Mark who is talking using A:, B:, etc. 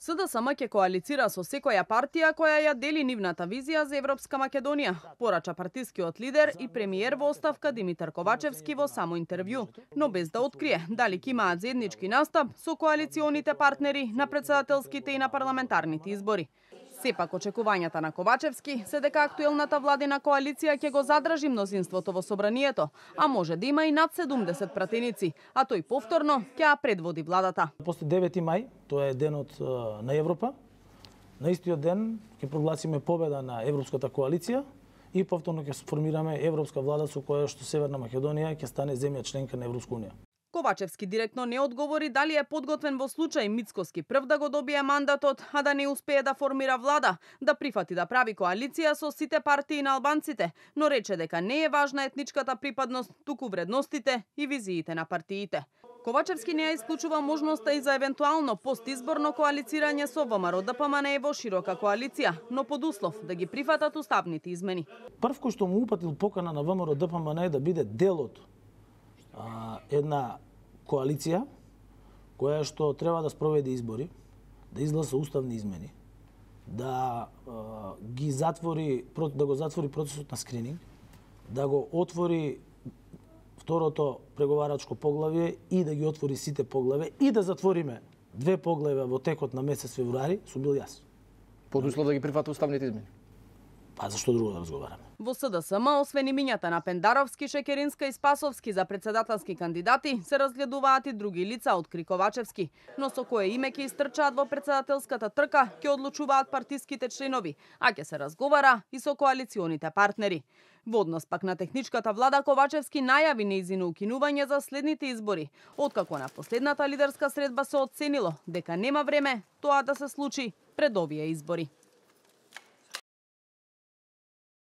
A: СДСМ ќе коалицира со секоја партија која ја дели нивната визија за Европска Македонија, порача партискиот лидер и премиер во оставка Димитар Ковачевски во само интервју, но без да открие дали ќе имаат заеднички настап со коалиционите партнери на претседателските и на парламентарните избори. Сепак очекувањата на Ковачевски се дека актуелната владина коалиција ќе го задржи мнозинството во собранието, а може да има и над 70 пратеници, а тој повторно ќе ја предводи владата.
B: После 9 мај, тоа е денот на Европа, на истиот ден ќе прогласиме победа на Европската коалиција и повторно ќе сформираме европска влада со која што Северна Македонија ќе стане земја членка на Европска унија.
A: Ковачевски директно не одговори дали е подготвен во случај Мицкоски прв да го добие мандатот, а да не успее да формира влада, да прифати да прави коалиција со сите партии на албанците, но рече дека не е важна етничката припадност, туку вредностите и визиите на партиите. Ковачевски не ја исклучува можноста и за евентуално постизборно коалицирање со ВМРО-ДПМНЕ во широка коалиција, но под услов да ги прифатат уставните измени.
B: Прв кој што му упатил покана на ВМРО-ДПМНЕ да биде дел од една коалиција која што треба да спроведе избори, да изгласа уставни измени, да го затвори процесот на скрининг, да го отвори второто преговарачко поглавје и да ги отвори сите поглавја и да затвориме 2 поглавја во текот на месец февруари, сум бил јас.
C: Под услов да ги прифати уставните измени.
B: Па зашто друго да разговараме?
A: Во СДСМ, освен имињата на Пендаровски, Шекеринска и Спасовски за претседателски кандидати, се разгледуваат и други лица, откри Ковачевски. Но со кое име ќе истрчаат во претседателската трка, ќе одлучуваат партиските членови, а ќе се разговара и со коалиционите партнери. Во однос пак на техничката влада, Ковачевски најави нејзино укинување за следните избори, откако на последната лидерска средба се оценило дека нема време тоа да се случи пред овие избори.